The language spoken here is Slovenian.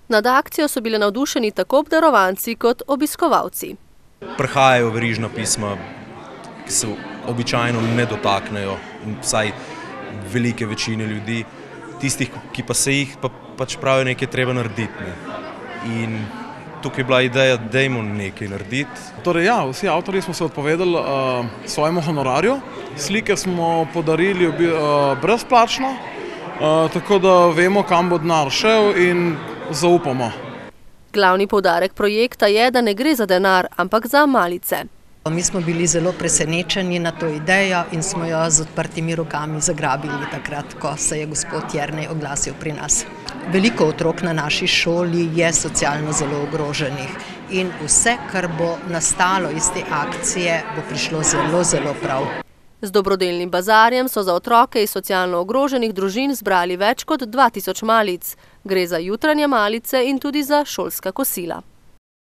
Nad akcijo so bile navdušeni tako obdarovanci kot obiskovalci. Prihajajo verižna pisma, ki se običajno ne dotaknejo, vsaj velike večine ljudi, tistih, ki pa se jih pač pravijo, nekaj treba narediti. In tukaj je bila ideja, dajmo nekaj narediti. Torej ja, vsi avtorji smo se odpovedali svojemu honorarju, slike smo podarili brezplačno, tako da vemo, kam bo denar šel in zaupamo. Glavni poudarek projekta je, da ne gre za denar, ampak za malice. Mi smo bili zelo presenečeni na to idejo in smo jo z odprtimi rokami zagrabili takrat, ko se je gospod Jernej oglasil pri nas. Veliko otrok na naši šoli je socialno zelo ogroženih in vse, kar bo nastalo iz te akcije, bo prišlo zelo, zelo prav. Z dobrodelnim bazarjem so za otroke iz socialno ogroženih družin zbrali več kot 2000 malic. Gre za jutranje malice in tudi za šolska kosila.